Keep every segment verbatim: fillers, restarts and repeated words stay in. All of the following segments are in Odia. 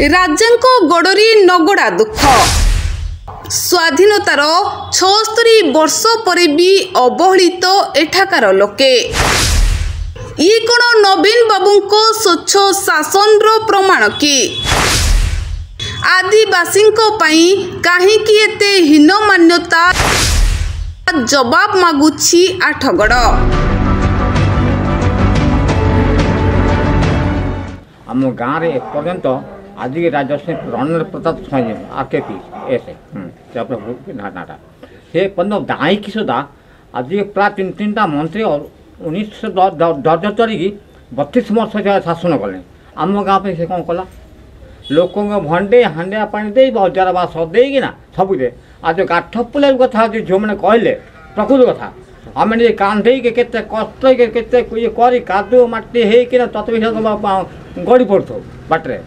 ରାଜାଙ୍କ ଗୋଡ଼ରେ ନଗଡ଼ା ଦୁଃଖ। ସ୍ୱାଧୀନତାର ଛଅସ୍ତରୀ ବର୍ଷ ପରେ ବି ଅବହେଳିତ ଏଠାକାର ଲୋକେ। ଇଏ କ'ଣ ନବୀନ ବାବୁଙ୍କ ସ୍ୱଚ୍ଛ ଶାସନର ପ୍ରମାଣ କି? ଆଦିବାସୀଙ୍କ ପାଇଁ କାହିଁକି ଏତେ ହୀନମାନ୍ୟତା, ଜବାବ ମାଗୁଛି ଆଠଗଡ଼। ଆମ ଗାଁରେ ଏପର୍ଯ୍ୟନ୍ତ ଆଜିକି ରାଜଶ୍ରୀ ରଣେନ୍ଦ୍ର ପ୍ରତାପ ସ୍ୱାଇଁ, ଆର୍ କେ ପି ଏସ୍, ନାଁଟା, ସେ ପର୍ଯ୍ୟନ୍ତ ଦାଇକି ସୁଦ୍ଧା ଆଜି ପ୍ରାୟ ତିନି ତିନିଟା ମନ୍ତ୍ରୀ ଉଣେଇଶହ ଦର୍ଜ କରିକି ବତିଶ ବର୍ଷ ଶାସନ କଲେ। ଆମ ଗାଁ ପାଇଁ ସେ କ'ଣ କଲା? ଲୋକଙ୍କ ଭଣ୍ଡେଇ ହାଣ୍ଡିଆ ପାଣି ଦେଇ, ବଜାର ବାସ ଦେଇକିନା ସବୁରେ। ଆଉ ଯେଉଁ କାଠ ପୁଲା କଥା ଅଛି, ଝିଅମାନେ କହିଲେ ପ୍ରକୃତ କଥା, ଆମେ ନିଜେ କାନ୍ଧେଇକି କେତେ କଷ୍ଟ କେତେ ଇଏ କରି କାଦୁଅ ମାଟି ହେଇକିନା ତଥାପି ଗଡ଼ି ପଡ଼ୁଥାଉ ବାଟରେ।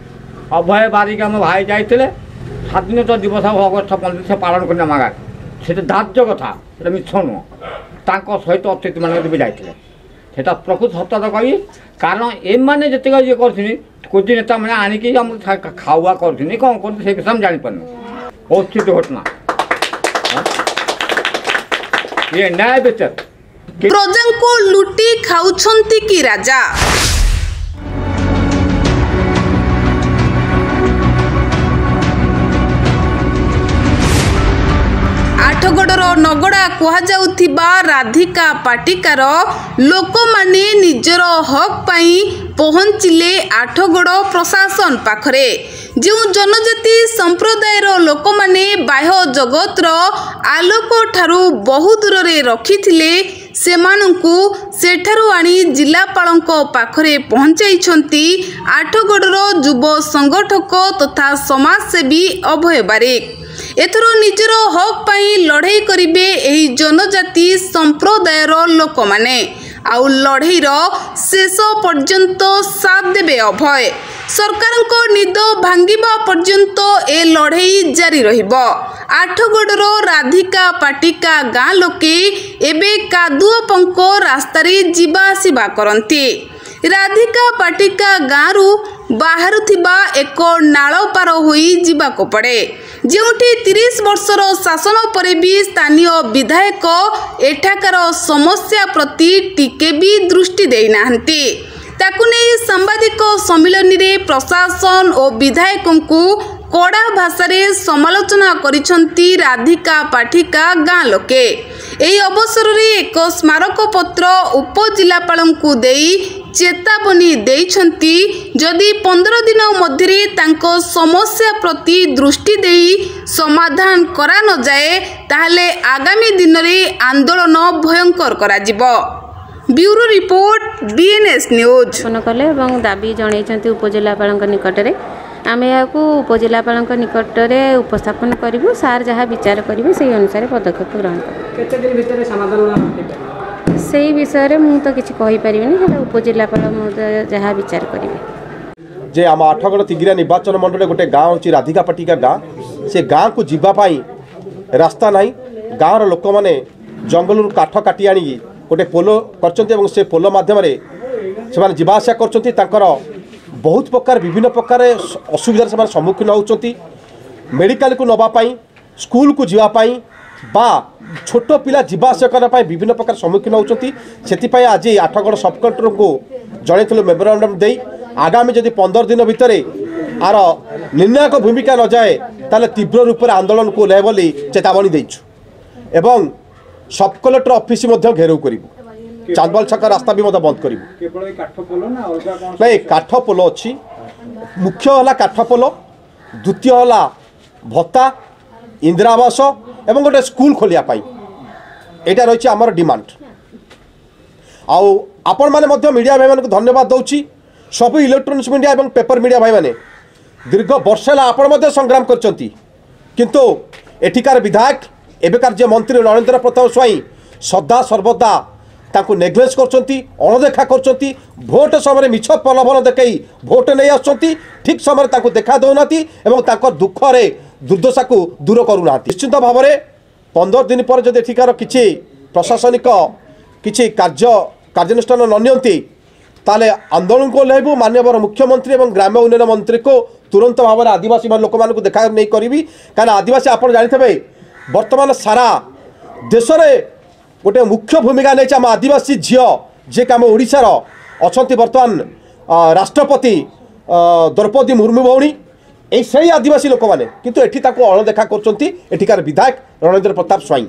ଅଭୟ ବାରିକ ଆମ ଭାଇ ଯାଇଥିଲେ, ସ୍ୱାଧୀନତା ଦିବସ ଅଗଷ୍ଟ ପନ୍ଦର ସେ ପାଳନ କରି ଆମ ଗାଁରେ। ସେଟା ଧାର୍ଯ୍ୟ କଥା, ସେଟା ମିଛ ନୁହଁ। ତାଙ୍କ ସହିତ ଅତିଥିମାନେ ବି ଯାଇଥିଲେ, ସେଟା ପ୍ରକୃତ ସତ କହିବି। କାରଣ ଏମାନେ ଯେତିକି ଇଏ କରୁଛନ୍ତି, କୁଜି ନେତାମାନେ ଆଣିକି ଆମର ଖାଉଆ କରୁଛନ୍ତି, କ'ଣ କରୁଛନ୍ତି ସେ ବିଷୟ ଆମେ ଜାଣିପାରୁନୁ। ଅସ୍ଥିତ ଘଟଣା ଇଏ, ନ୍ୟାୟ ବିଚାର। ପ୍ରଜାଙ୍କୁ ଲୁଟି ଖାଉଛନ୍ତି କି ରାଜା? ଆଠଗଡ଼ର ନଗଡ଼ା କୁହାଯାଉଥିବା ରାଧିକା ପାଟିକାର ଲୋକମାନେ ନିଜର ହକ୍ ପାଇଁ ପହଞ୍ଚିଲେ ଆଠଗଡ଼ ପ୍ରଶାସନ ପାଖରେ। ଯେଉଁ ଜନଜାତି ସମ୍ପ୍ରଦାୟର ଲୋକମାନେ ବାହ୍ୟ ଜଗତର ଆଲୋକଠାରୁ ବହୁ ଦୂରରେ ରଖିଥିଲେ, ସେମାନଙ୍କୁ ସେଠାରୁ ଆଣି ଜିଲ୍ଲାପାଳଙ୍କ ପାଖରେ ପହଞ୍ଚାଇଛନ୍ତି ଆଠଗଡ଼ର ଯୁବ ସଂଗଠକ ତଥା ସମାଜସେବୀ ଅଭୟ ବାରିକ। ଏଥର ନିଜର ହକ୍ ପାଇଁ ଲଢ଼େଇ କରିବେ ଏହି ଜନଜାତି ସମ୍ପ୍ରଦାୟର ଲୋକମାନେ, ଆଉ ଲଢ଼େଇର ଶେଷ ପର୍ଯ୍ୟନ୍ତ ସାଥ ଦେବେ ଅଭୟ। ସରକାରଙ୍କ ନିଦ ଭାଙ୍ଗିବା ପର୍ଯ୍ୟନ୍ତ ଏ ଲଢ଼େଇ ଜାରି ରହିବ। ଆଠଗଡ଼ର ରାଧିକା ପାଟିକା ଗାଁ ଲୋକେ ଏବେ କାଦୁଅ ପଙ୍କ ରାସ୍ତାରେ ଯିବା ଆସିବା କରନ୍ତି। ରାଧିକା ପାଟିକା ଗାଁରୁ ବାହାରୁଥିବା ଏକ ନାଳ ପାର ହୋଇ ଯିବାକୁ ପଡ଼େ, ଯେଉଁଠି ତିରିଶ ବର୍ଷର ଶାସନ ପରେ ବି ସ୍ଥାନୀୟ ବିଧାୟକ ଏଠାକାର ସମସ୍ୟା ପ୍ରତି ଟିକେ ବି ଦୃଷ୍ଟି ଦେଇନାହାନ୍ତି। ତାକୁ ନେଇ ସାମ୍ବାଦିକ ସମ୍ମିଳନୀରେ ପ୍ରଶାସନ ଓ ବିଧାୟକଙ୍କୁ କଡ଼ା ଭାଷାରେ ସମାଲୋଚନା କରିଛନ୍ତି ରାଧିକା ପାଠିକା ଗାଁ ଲୋକେ। ଏହି ଅବସରରେ ଏକ ସ୍ମାରକପତ୍ର ଉପଜିଲ୍ଲାପାଳଙ୍କୁ ଦେଇ ଚେତାବନୀ ଦେଇଛନ୍ତି, ଯଦି ପନ୍ଦର ଦିନ ମଧ୍ୟରେ ତାଙ୍କ ସମସ୍ୟା ପ୍ରତି ଦୃଷ୍ଟି ଦେଇ ସମାଧାନ କରାନଯାଏ, ତାହେଲେ ଆଗାମୀ ଦିନରେ ଆନ୍ଦୋଳନ ଭୟଙ୍କର କରାଯିବ। Bureau report, BNS news. କଲେ ଏବଂ ଦାବି ଜଣାଇଛନ୍ତି ଉପଜିଲ୍ଲାପାଳଙ୍କ ନିକଟରେ। ଆମେ ଏହାକୁ ଉପଜିଲ୍ଲାପାଳଙ୍କ ନିକଟରେ ଉପସ୍ଥାପନ କରିବୁ। ସାର୍ ଯାହା ବିଚାର କରିବେ ସେଇ ଅନୁସାରେ ପଦକ୍ଷେପ ଗ୍ରହଣ କରିବୁ। କେତେ ଦିନ ଭିତରେ ସମାଧାନ ହେଇପାରିବ ସେଇ ବିଷୟରେ ମୁଁ ତ କିଛି କହିପାରିବିନି, ହେଲେ ଉପଜିଲ୍ଲାପାଳ ମହୋଦୟ ଯାହା ବିଚାର କରିବେ। ଯେ ଆମ ଆଠଗଡ଼ ତିଗିରିଆ ନିର୍ବାଚନ ମଣ୍ଡଳୀରେ ଗୋଟେ ଗାଁ ହେଉଛି ରାଧିକାପାଟିକା ଗାଁ। ସେ ଗାଁକୁ ଯିବା ପାଇଁ ରାସ୍ତା ନାହିଁ। ଗାଁର ଲୋକମାନେ ଜଙ୍ଗଲରୁ କାଠ କାଟି ଆଣିକି ଗୋଟେ ପୋଲ କରିଛନ୍ତି ଏବଂ ସେ ପୋଲ ମାଧ୍ୟମରେ ସେମାନେ ଯିବା ଆସିବା କରୁଛନ୍ତି। ତାଙ୍କର ବହୁତ ପ୍ରକାର ବିଭିନ୍ନ ପ୍ରକାର ଅସୁବିଧାରେ ସେମାନେ ସମ୍ମୁଖୀନ ହେଉଛନ୍ତି। ମେଡ଼ିକାଲକୁ ନେବା ପାଇଁ, ସ୍କୁଲକୁ ଯିବା ପାଇଁ ବା ଛୋଟ ପିଲା ଯିବା ଆସିବା କରିବା ପାଇଁ ବିଭିନ୍ନ ପ୍ରକାର ସମ୍ମୁଖୀନ ହେଉଛନ୍ତି। ସେଥିପାଇଁ ଆଜି ଆଠଗଡ଼ ସବ୍ କଲେକ୍ଟରଙ୍କୁ ଜଣାଇଥିଲୁ ମେମୋରାଣ୍ଡମ୍ ଦେଇ, ଆଗାମୀ ଯଦି ପନ୍ଦର ଦିନ ଭିତରେ ଆର ନିର୍ଣ୍ଣାୟକ ଭୂମିକା ନଯାଏ, ତାହେଲେ ତୀବ୍ର ରୂପରେ ଆନ୍ଦୋଳନକୁ ଓହ୍ଲାଇବ ବୋଲି ଚେତାବନୀ ଦେଇଛୁ ଏବଂ ସବ୍ କଲେକ୍ଟର ଅଫିସ୍ ମଧ୍ୟ ଘେରାଉ କରିବୁ। ଚାନ୍ଦବାଲ ଛକ ରାସ୍ତା ବି ମଧ୍ୟ ବନ୍ଦ କରିବୁ। କେବଳ ଏଇ କାଠ ପୋଲ ନା ଅଲଗା କ'ଣ? ନାଇଁ, କାଠ ପୋଲ ଅଛି। ମୁଖ୍ୟ ହେଲା କାଠ ପୋଲ, ଦ୍ୱିତୀୟ ହେଲା ଭତ୍ତା, ଇନ୍ଦିରା ଆବାସ ଏବଂ ଗୋଟେ ସ୍କୁଲ ଖୋଲିବା ପାଇଁ, ଏଇଟା ରହିଛି ଆମର ଡିମାଣ୍ଡ। ଆଉ ଆପଣମାନେ ମଧ୍ୟ ମିଡ଼ିଆ ଭାଇମାନଙ୍କୁ ଧନ୍ୟବାଦ ଦେଉଛି, ସବୁ ଇଲେକ୍ଟ୍ରୋନିକ୍ସ ମିଡ଼ିଆ ଏବଂ ପେପର ମିଡ଼ିଆ ଭାଇମାନେ। ଦୀର୍ଘ ବର୍ଷ ହେଲା ଆପଣ ମଧ୍ୟ ସଂଗ୍ରାମ କରିଛନ୍ତି, କିନ୍ତୁ ଏଠିକାର ବିଧାୟକ, ଏବେକାର ଯେ ମନ୍ତ୍ରୀ ନରେନ୍ଦ୍ର ପ୍ରତାପ ସ୍ୱାଇଁ ସଦା ସର୍ବଦା ତାଙ୍କୁ ନେଗ୍ଲେକ୍ଟ କରୁଛନ୍ତି, ଅଣଦେଖା କରୁଛନ୍ତି। ଭୋଟ ସମୟରେ ମିଛ ପ୍ରଲୋଭନ ଦେଖାଇ ଭୋଟ ନେଇ ଆସୁଛନ୍ତି, ଠିକ୍ ସମୟରେ ତାଙ୍କୁ ଦେଖା ଦେଉନାହାନ୍ତି ଏବଂ ତାଙ୍କ ଦୁଃଖରେ ଦୁର୍ଦ୍ଦଶାକୁ ଦୂର କରୁନାହାନ୍ତି। ନିଶ୍ଚିନ୍ତ ଭାବରେ ପନ୍ଦର ଦିନ ପରେ ଯଦି ଏଠିକାର କିଛି ପ୍ରଶାସନିକ କିଛି କାର୍ଯ୍ୟ କାର୍ଯ୍ୟାନୁଷ୍ଠାନ ନ ନିଅନ୍ତି, ତାହେଲେ ଆନ୍ଦୋଳନକୁ ଓହ୍ଲାଇବୁ। ମାନ୍ୟବର ମୁଖ୍ୟମନ୍ତ୍ରୀ ଏବଂ ଗ୍ରାମ୍ୟ ଉନ୍ନୟନ ମନ୍ତ୍ରୀକୁ ତୁରନ୍ତ ଭାବରେ ଆଦିବାସୀ ଲୋକମାନଙ୍କୁ ଦେଖା ନେଇ କରିବି, କାରଣ ଆଦିବାସୀ ଆପଣ ଜାଣିଥିବେ ବର୍ତ୍ତମାନ ସାରା ଦେଶରେ ଗୋଟେ ମୁଖ୍ୟ ଭୂମିକା ନେଇଛି ଆମ ଆଦିବାସୀ ଝିଅ, ଯିଏକି ଆମ ଓଡ଼ିଶାର ଅଛନ୍ତି ବର୍ତ୍ତମାନ ରାଷ୍ଟ୍ରପତି ଦ୍ରୌପଦୀ ମୁର୍ମୁ ଭଉଣୀ। ଏଇ ସେଇ ଆଦିବାସୀ ଲୋକମାନେ କିନ୍ତୁ ଏଠି ତାକୁ ଅଣଦେଖା କରୁଛନ୍ତି ଏଠିକାର ବିଧାୟକ ରଣେନ୍ଦ୍ର ପ୍ରତାପ ସ୍ୱାଇଁ।